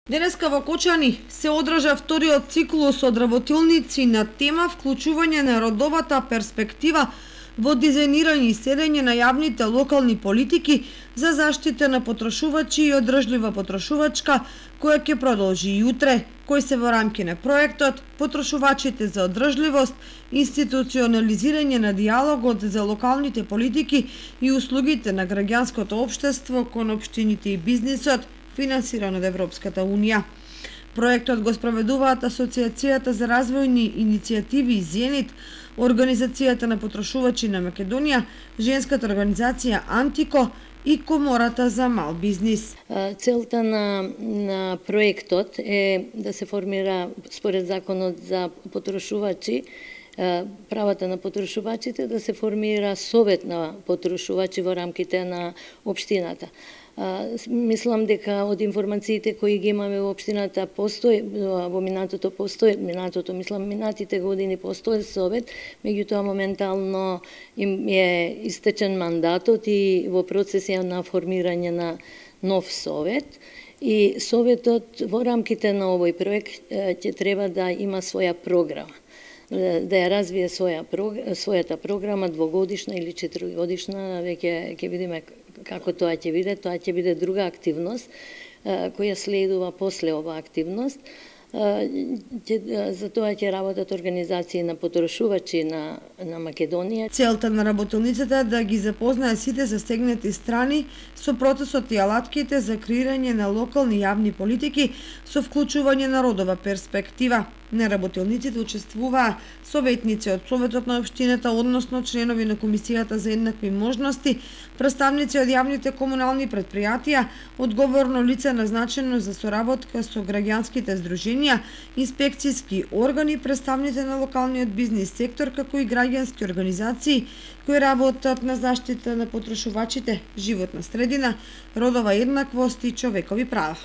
Денеска во Кочани се одржа вториот циклус од работилници на тема вклучување на родовата перспектива во дизајнирање и следење на јавните локални политики за заштита на потрошувачи и одржлива потрошувачка, која ќе продолжи и утре, кој се во рамки на проектот Потрошувачите за одржливост, институционализирање на диалогот за локалните политики и услугите на граѓанското општество кон општините и бизнисот, финансиран од Европската Унија. Проектот го спроведуваат Асоциацијата за развојни иницијативи Зенит, Организацијата на потрошувачи на Македонија, Женската организација Антико и Комората за мал бизнис. Целта на проектот е да се формира според законот за потрошувачи, правата на потрошувачите, да се формира совет на потрошувачи во рамките на општината. Мислам дека од информациите кои ги имаме во општината постои, во минатите години постои совет, меѓутоа моментално им е истечен мандатот и во процес е на формирање на нов совет. И советот во рамките на овој проект ќе треба да има своја програма, да ја развие својата програма двогодишна или 4годишна, веќе ќе видиме како тоа ќе биде. Тоа ќе биде друга активност која следува после оваа активност. За тоа ќе работат организации на потрошувачи на Македонија. Целта на работилницата е да ги запознае сите застегнати страни со процесот и алатките за креирање на локални јавни политики со вклучување на родова перспектива. На работилниците учествуваа советници од Советот на општината, односно членови на Комисијата за еднакви можности, представници од јавните комунални претпријатија, одговорно лице назначено за соработка со граѓанските здруженија, инспекцијски органи, представници на локалниот бизнис сектор, како и граѓански организации кои работат на заштита на потрошувачите, животна средина, родова еднаквост и човекови права.